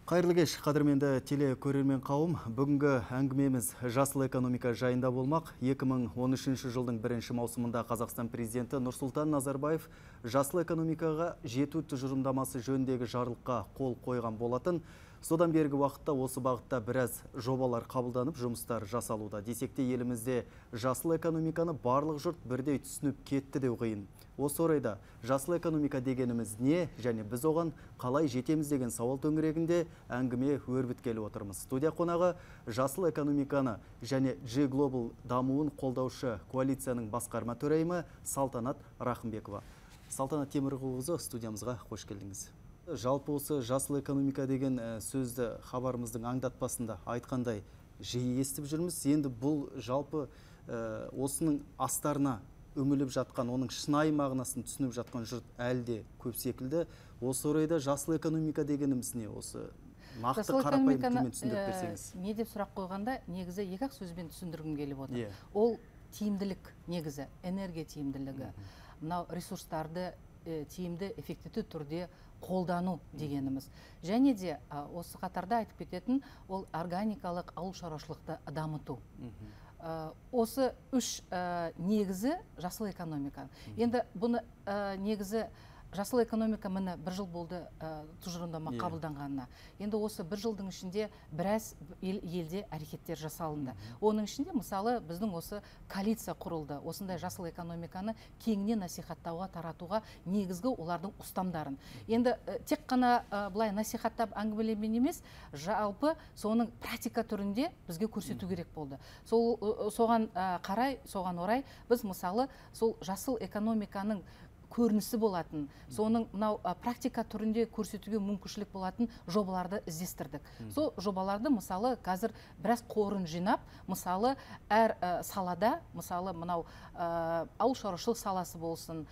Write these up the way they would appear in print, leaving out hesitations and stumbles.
Қайырлы кеш, қадірменді телекөрермен қауым. Бүгінгі әңгімеміз жасыл экономика жайында болмақ. 2013 жылдың 1 маусымында Қазақстан президенті Нұрсұлтан Назарбаев жасыл экономикаға жету тұжырымдамасы жөніндегі жарлыққа қол қойған болатын. Содан бергі уақытта осы бағытта біраз жобалар қабылданып, жұмыстар жасалуда. Десек те елімізде жасыл экономиканы барлық жұрт бірдей түсініп кетті деу қиын. Осы орайда жасыл экономика дегеніміз не, және біз оған қалай жетеміз деген сауал төңірегінде әңгіме өрбіткелі отырмыз. Студия қонағы жасыл экономиканы және G Global дамуын қолдаушы коалицияның басқарма төрайымы Салтанат Рахымбекова. Салтанат Темірқызы, студиямызға қош келдіңіз. Жалпы осы жасыл экономика деген сөзді хабарымыздың аңдатпасында айтқандай жиі естіп жүрміз. Енді бұл жалпы осының астарына үміліп жатқан, оның шынайы мағынасын түсініп жатқан жұрт әлде көп секілді. Осы орайда жасыл экономика дегеніміз не? Осы нақты қарапайым тілмен түсіндіріп берсеңіз. Не деп сұрақ қойғанда, негізі екі-ақ сөзбен түсіндіргім келіп отыр. Ол тиімділік негізі, энергия тиімділігі. Мынау ресурстарды тиімді, эффективті түрде қолдану дегеніміз. Және де осы қатарда айтып кететін ол органикалық ауыл шаруашылықты дамыту. Осы үш негізі жасыл экономика. Енді бұны негізі жасыл экономика міне бір жыл болды тұжырымдама қабылданғанына. Енді осы бір жылдың ішінде біраз елде әрекеттер жасалынды. Оның ішінде мысалы біздің осы коалиция құрылды. Осындай жасыл экономиканы кеңінен насихаттауға, таратуға негізгі олардың ұстамдарын. Енді тек қана былай насихаттап әңгімелеумен емес, жалпы соның практика түрінде бізге көрсету керек болды. Соған қарай, соған орай біз мысалы сол жасыл экономиканың көрінісі болатын, соның мынау практика түрінде көрсетуге мүмкіншілік болатын жобаларды іздестірдік. Сол жобаларды мысалы қазір біраз қорын жинап, мысалы әр салада, мысалы мынау ауыл шаруашылық саласы болсын,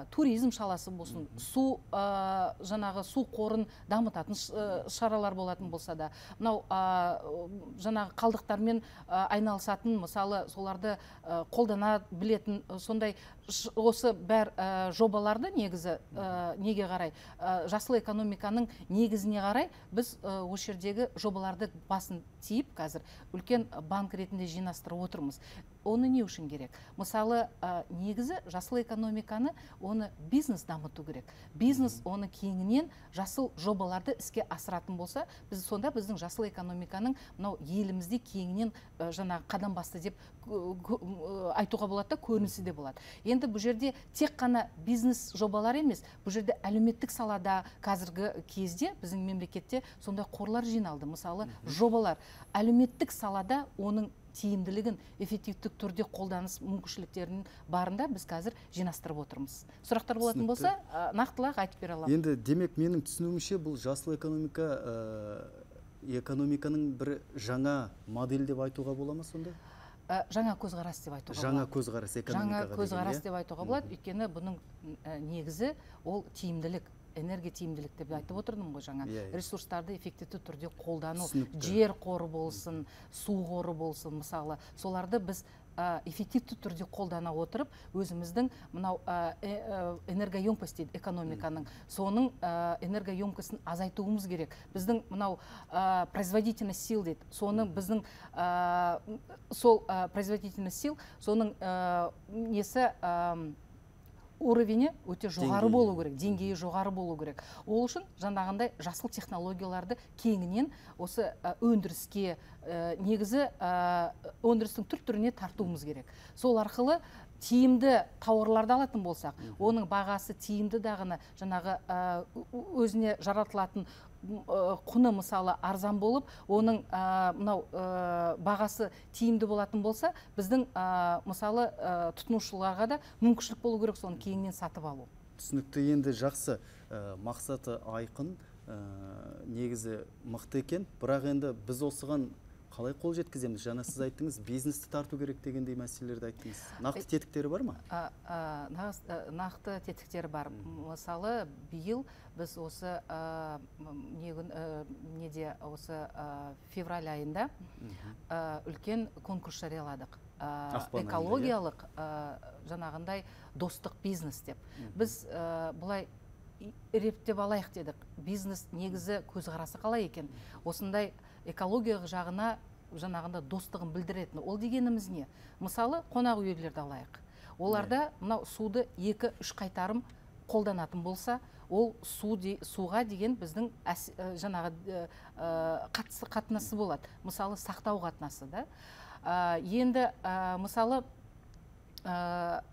туризм саласы болсын, жаңағы су қорын дамытатын шаралар болатын болса да, мынау жаңағы қалдықтармен айналысатын, мысалы соларды қолдана білетін, сондай осы бәр жобаларды негізі неге қарай, жасыл экономиканың негізіне қарай біз осы жердегі жобаларды басын тиіп қазір үлкен банк ретінде жинастырып отырмыз. Оны не үшін керек? Мысалы, негізі жасыл экономиканы оны бизнес дамыту керек. Бизнес оны кеңінен жасыл жобаларды іске асыратын болса, біз сонда біздің жасыл экономиканың мынау елімізде кеңінен жаңа қадам басты деп айтуға болады да, көрінісі де болады. Енді бұл жерде тек қана бизнес жобалар емес, бұл жерде әлеуметтік салада қазіргі кезде біздің мемлекетте сондай қорлар жиналды. Мысалы, жобалар әлеуметтік салада оның тиімділігін эффективтік түрде қолданыс мүмкіншіліктерінің барында біз қазір жинастырып отырмыз. Сұрақтар болатын болса, нақтылап айтып бере аламын. Енді демек менің түсінуімше бұл жасыл экономиканың бір жаңа модель деп айтуға бола ма сонда? Жаңа көзқарас деп айтуға болады. Жаңа көзқарас экономикаға. Жаңа көзқарас деп айтуға болады. Өйткені бұның негізі ол тиімділік, энергия тиімділік деп айтып отырдым ғой жаңа. Ресурстарды эффективті түрде қолдану, жер қоры болсын, су қоры болсын, мысалы, соларды біз эффективті түрде қолдана отырып, өзіміздің мынау энергоемкость дейді экономиканың, соның энергоемкостін азайтуымыз керек. Біздің мынау производительность сил дейді, соның біздің сол производительность сил, соның несі уровені өте жоғары болу керек, деңгейі жоғары болу керек. Ол үшін жаңағындай жасыл технологияларды кеңінен осы өндіріске, негізі өндірістің түр-түріне тартуымыз керек. Сол арқылы тиімді тауарларды алатын болсақ, оның бағасы тиімді дағыны жаңағы өзіне жаратылатын құны мысалы арзан болып, оның мынау бағасы тиімді болатын болса, біздің мысалы тұтынушыларға да мүмкіншілік болу керек соны кейіннен сатып алу. Түсінікті, енді жақсы, мақсаты айқын, негізі мықты екен, бірақ енді біз осыған қалай қол жеткіземіз? Жаңа сіз айттыңыз, бизнесті тарту керек дегендей мәселелерді айттыңыз. Нақты тетіктері бар ма? Нақты тетіктері бар. Мысалы, биыл біз осы неде осы февраль айында үлкен конкурс жарияладық. Экологиялық жаңағындай достық бизнес деп. Біз бұлай рептеп алайық дедік. Бизнес негізі көзқарасы қалай екен? Осындай экологиялық жағына жаңағында достығын білдіретін. Ол дегеніміз не? Мысалы, қонақ үйлерді алайық. Оларда мынау суды 2-3 қайтарым қолданатын болса, ол суға деген біздің жаңағы қатынасы болады. Мысалы, сақтау қатынасы да. Енді мысалы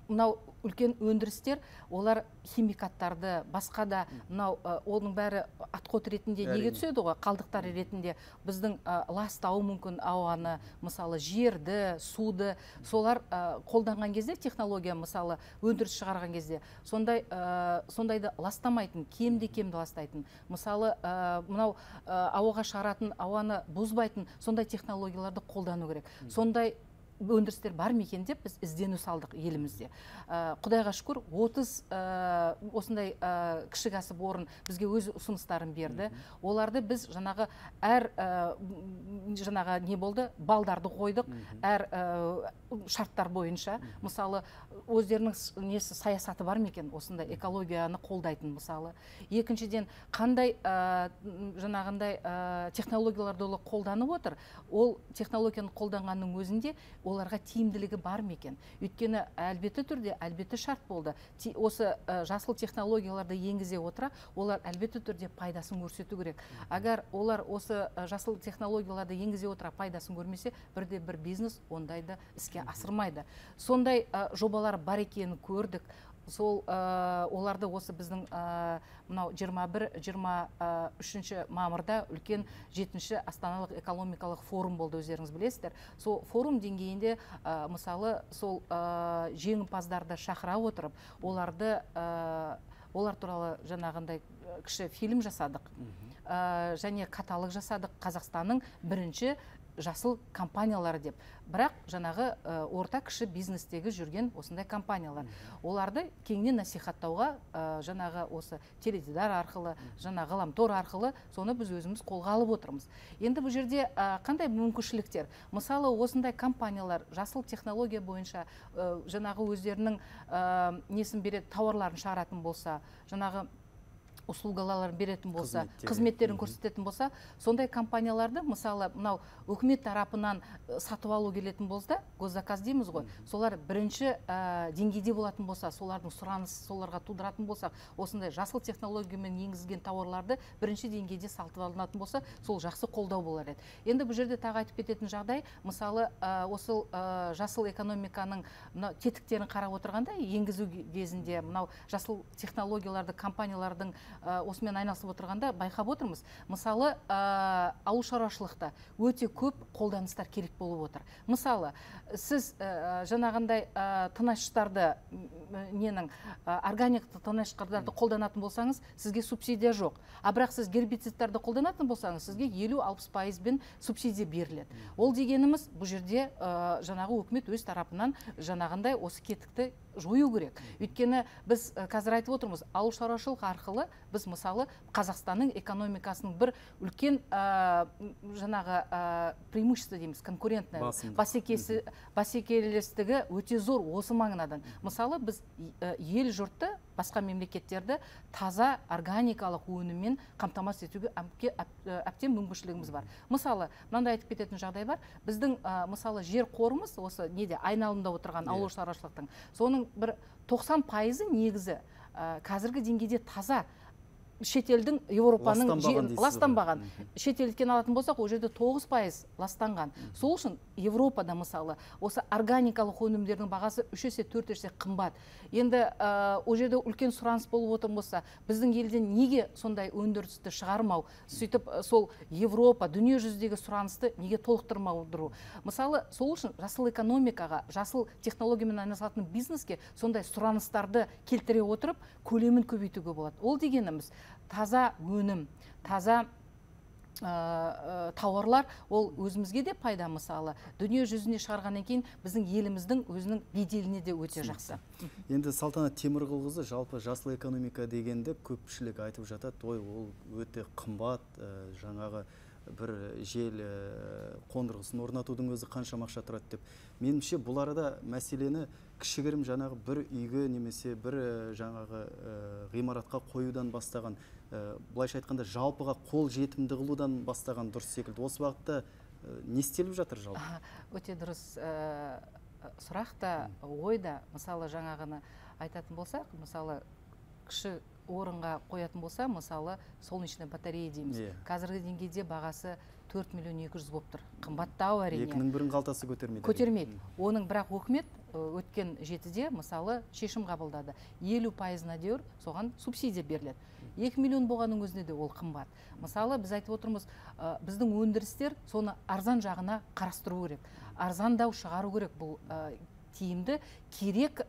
мынау үлкен өндірістер, олар химикаттарды, басқа да мынау оның бәрі отход ретінде неге түседі ғой, қалдықтар ретінде біздің ластауы мүмкін ауаны, мысалы жерді, суды, солар қолданған кезде технология, мысалы өндіріс шығарған кезде сондайды ластамайтын, кемді ластайтын, мысалы мынау ауаға шығаратын, ауаны бұзбайтын сондай технологияларды қолдану керек. Сондай өндірістер бар ма екен деп біз іздену салдық елімізде. Құдайға шүкір 30 осындай кіші кәсіпорын бізге өз ұсыныстарын берді. Оларды біз жаңағы жаңағы не болды, балдарды қойдық, әр шарттар бойынша. Мысалы, өздерінің несі саясаты бар ма екен, осындай экологияны қолдайтын, мысалы. Екіншіден, қандай жаңағындай технологияларды олар қолданып отыр, ол технологияны қолданғанның өзінде оларға тиімділігі бар ма екен? Өйткені әлбетті түрде, әлбетті шарт болды. Осы жасыл технологияларды енгізе отыра, олар әлбетті түрде пайдасын көрсету керек. Агар олар осы жасыл технологияларды енгізе отыра пайдасын көрмесе, бірде-бір бизнес ондайды іске асырмайды. Сондай жобалар бар екенін көрдік. Сол оларды осы біздің мынау 21-23 мамырда үлкен 7-ші астаналық экономикалық форум болды, өздеріңіз білесіздер. Сол форум деңгейінде мысалы сол жеңімпаздарды шақыра отырып, олар туралы жаңағындай кіші фильм жасадық, және каталог жасадық, Қазақстанның бірінші жасыл компаниялары деп. Бірақ жаңағы орта кіші бизнестегі жүрген осындай компаниялар. Оларды кеңінен насихаттауға жаңағы осы теледидар арқылы, жаңағы ғаламтор арқылы соны біз өзіміз қолға алып отырмыз. Енді бұл жерде қандай мүмкіншіліктер? Мысалы, осындай компаниялар жасыл технология бойынша жаңағы өздерінің несін береді, тауарларын шығаратын болса, жаңағы услугаларын беретін болса, қызметтерін көрсететін болса, сондай компанияларды, мысалы, мынау үкімет тарапынан сатып алу келетін болса, госзаказ дейміз ғой, солар бірінші деңгейде болатын болса, солардың сұранысы соларға тудыратын болсақ, осындай жасыл технологиямен енгізген тауарларды бірінші деңгейде сатып алынатын болса, сол жақсы қолдау болар еді. Енді бұл жерде тағы айтып кететін жағдай, мысалы, осы жасыл экономиканың тетіктерін қарап отырғанда, енгізу кезінде мынау жасыл технологияларды компаниялардың осымен айналысып отырғанда байқап отырмыз. Мысалы, ауыл шаруашылықта өте көп қолданыстар керек болып отыр. Мысалы, сіз жаңағындай тыңайтқыштарды, органик тыңайтқыштарды қолданатын болсаңыз, сізге субсидия жоқ. Бірақ сіз гербицидтарды қолданатын болсаңыз, сізге 50-60% субсидия беріледі. Ол дегеніміз, бұл жерде жаңағы үкімет өз тарапынан жаңағындай осы кетікті жою керек. Өйткені біз қазір айтып отырмыз, ауыл шаруашылық арқылы біз мысалы Қазақстанның экономикасының бір үлкен жаңағы преимущество дейміз, конкурентный бәсекелестігі өте зор осы маңынадан. Мысалы, біз ел жұртты, басқа мемлекеттерді таза органикалық өніммен қамтамасыз етуге әбден мүмкіншілігіміз бар. Мысалы, мынандай айтып кететін жағдай бар. Біздің мысалы жер қорымыз осы неде айналымда отырған ауыл шаруашылықтың, соның бір 90% негізі қазіргі деңгейде таза, шетелдің, Европаның ластанбаған. Шетелден алатын болсақ, ол жерде 9% ластанған. Сол үшін Европада мысалы осы органикалық өнімдердің бағасы 3 есе 4 есе қымбат. Енді ол жерде үлкен сұраныс болып отыр болса, біздің елден неге сондай өндірісті шығармау, сөйтіп сол Европа, дүние жүзіндегі сұранысты неге толықтырмау? Мысалы, сол үшін жасыл экономикаға, жасыл технологиямен айналысатын бизнеске сондай сұраныстарды келтіре отырып, көлемін көбейтуге болады. Ол дегеніміз таза өнім, таза тауарлар, ол өзімізге де пайда. Мысалы, дүние жүзіне шығарғаннан кейін біздің еліміздің өзінің беделіне де өте жақсы. Енді Салтанат Темірқызы, жалпы жасыл экономика дегенде көпшілік айтып жатады, ол өте қымбат, жаңағы бір жел қондырғысын орнатудың өзі қанша ақша тұрады деп. Меніңше бұл арада мәселені кішігірім жаңағы бір үйге немесе бір жаңағы ғимаратқа қоюдан бастаған, былайша айтқанда жалпыға қол жетімді қылудан бастаған дұрыс секілді. Осы бағытта не істеліп жатыр жалпы? Өте дұрыс сұрақта, ойда, мысалы жаңағыны айтатын болсақ, мысалы кіші орынға қоятын болса, мысалы солнечный батарея дейміз. Қазіргі деңгейде бағасы 4 миллион 200 болып тұр. Қымбаттау әрине. Екінің бірін қалтасы көтермейді. Көтермейді. Оның бірақ өкімет өткен 7-де мысалы шешім қабылдады. 50%-на дейін соған субсидия беріледі. 2 миллион болғанның өзінде де ол қымбат. Мысалы біз айтып отырмыз, біздің өндірістер соны арзан жағына қарастыру керек. Арзандау шығару керек бұл тиімді керек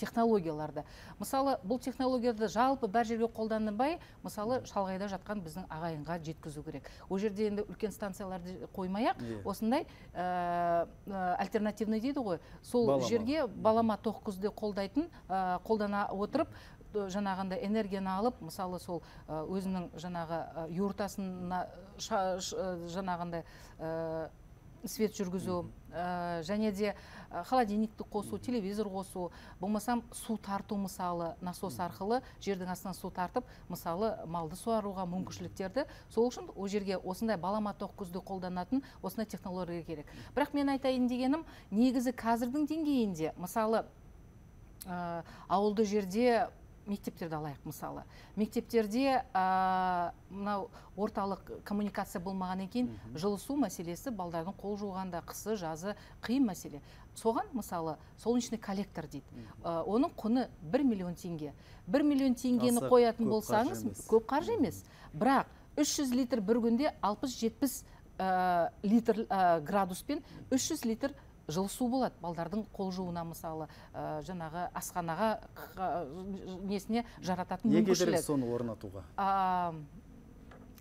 технологияларды. Мысалы, бұл технологияларды жалпы бар жерге қолданбай, мысалы, шалғайда жатқан біздің ағайынға жеткізу керек. Ол жерде енді үлкен станцияларды қоймай-ақ, осындай альтернативный дейді ғой, сол жерге балама тоқ көзде қолдана отырып, жаңағында энергияны алып, мысалы сол өзінің жаңағы юртасына жаңағында свет жүргізу, және де холодильникті қосу, телевизор қосу, болмасам су тарту, мысалы насос арқылы жердің астынан су тартып, мысалы малды суаруға мүмкіншіліктерді, сол үшін ол жерге осындай балама тоқ көзді қолданатын осындай технология керек. Бірақ мен айтайын дегенім, негізі қазірдің деңгейінде, мысалы ауылды жерде мектептерді алайық, мысалы. Мектептерде мынау орталық коммуникация болмаған екен, жылы су мәселесі балдардың қол жуғанда қысы, жазы қиын мәселе. Соған, мысалы, солнечный коллектор дейді. Оның құны 1 миллион теңге. 1 миллион теңгені қоятын болсаңыз, көп қаржы емес. Бірақ 300 литр бір күнде 60-70 литр градуспен 300 литр жылы су болады. Балдардың қол жуына, мысалы, жаңағы асханаға несіне жарататын мүмкіншілік. Неге керек соны орнатуға?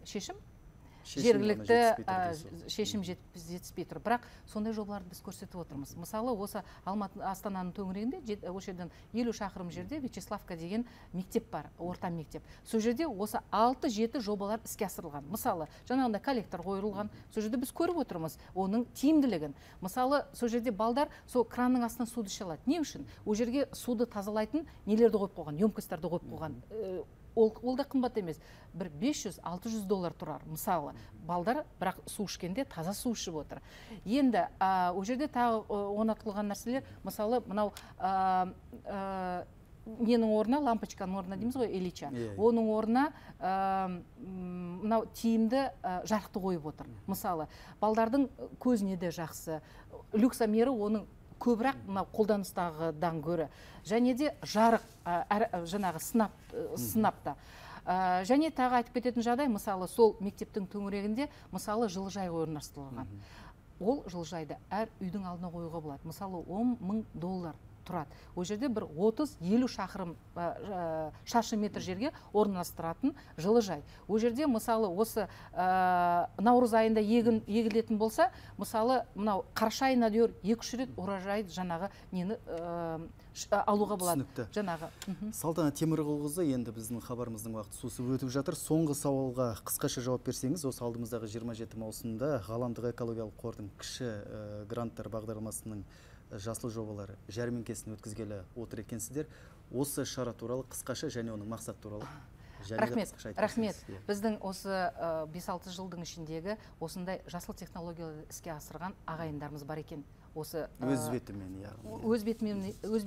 Шешім? Жергілікті шешім жетіспей тұр. Бірақ сондай жобаларды біз көрсетіп отырмыз. Мысалы, осы Астананың төңірегінде, осы жерден 50 шақырым жерде Вячеславка деген мектеп бар, орта мектеп. Сол жерде осы 6-7 жобалар іске асырылған. Мысалы, жаңағында коллектор қойылған. Сол жерде біз көріп отырмыз оның тиімділігін. Мысалы, сол жерде балдар сол кранның астынан суды іше алады. Не үшін? Ол жерге суды тазалайтын нелерді қойып қойған, емкосттарды қойып қойған. Ол да қымбат емес. Бір $500-600 тұрар. Мысалы, балдар бірақ су ішкенде таза су ішіп отыр. Енді, ол жерде тағы орнатылған нәрселер, мысалы, мынау ненің орнына, лампочканың орнына дейміз ғой, Ильича. Оның орнына мынау тиімді жарықты қойып отыр. Мысалы, балдардың көзіне де жақсы. Люксомері оның көбірек қолданыстағыдан көрі. Және де жарық, жаңағы сынапта. Және тағы айтып кететін жағдай, мысалы, сол мектептің төңірегінде, мысалы, жылыжай орналастырылған. Ол жылыжайды әр үйдің алдына қоюға болады. Мысалы, $10 000 тұрады. Ол жерде бір 30-50 шақырым шаршы метр жерге орналастыратын жылыжай. Ол жерде, мысалы, осы наурыз айында егілетін болса, мысалы, мынау қараша айына дейін 2-3 рет уражай жаңағы нені алуға болады. Жаңағы. Салтанат Темірғұлқызы, енді біздің хабарымыздың уақыты сусып өтіп жатыр. Соңғы сауалға қысқаша жауап берсеңіз, осы алдымыздағы 27 маусымда ғаламдық экологиялық қордың кіші гранттар бағдарламасының жасыл жобалары жәрмеңкесін өткізгелі отыр екенсіздер. Осы шара туралы қысқаша және оның мақсат туралы. Рахмет. Біздің осы 5-6 жылдың ішіндегі осындай жасыл технологияларды іске асырған ағайындарымыз бар екен. Өз бетімен, өз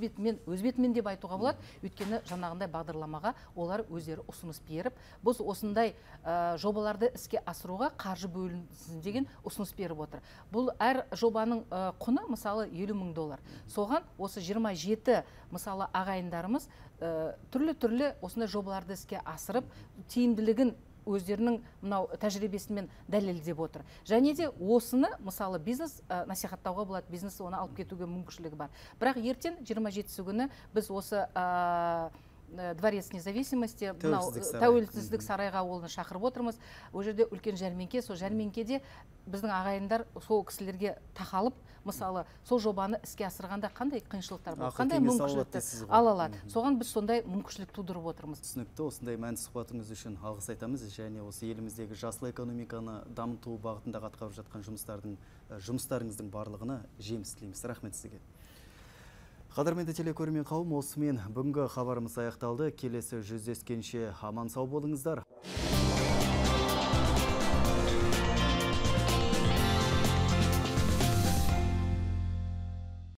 бетімен деп айтуға болады. Өйткені жаңағындай бағдарламаға олар өздері ұсыныс беріп, біз осындай жобаларды іске асыруға қаржы бөлінсін деген ұсыныс беріп отыр. Бұл әр жобаның құны, мысалы, $50 000. Соған осы 27 мысалы ағайындарымыз түрлі осындай жобаларды іске асырып, тиімділігін өздерінің мынау тәжірибесімен дәлелдеп отыр. Және де осыны, мысалы, бизнес насихаттауға болады, бизнес оны алып кетуге мүмкіншілігі бар. Бірақ ертең 27 күні біз осы Дворец независимости, тәуелсіздік сарайға олны шақырып отырмыз. Ол жерде үлкен жәрмеңке, сол жәрмеңкеде біздің ағайындар сол кісілерге тақалып, мысалы, сол жобаны іске асырғанда қандай қиыншылықтар бар, қандай мүмкіншіліктер ала алады. Соған біз сондай мүмкіншілік тудырып отырмыз. Түсінікті, осындай мәнді сұхбатыңыз үшін алғыс айтамыз, және осы еліміздегі жасыл экономиканы дамыту бағытында атқарып жатқан жұмыстарыңыздың барлығына жеміс тілейміз. Рахмет сізге. Қадірменді телекөрермен қауым, осымен бүгінгі хабарымыз аяқталды. Келесі жүздескенше аман сау болыңыздар.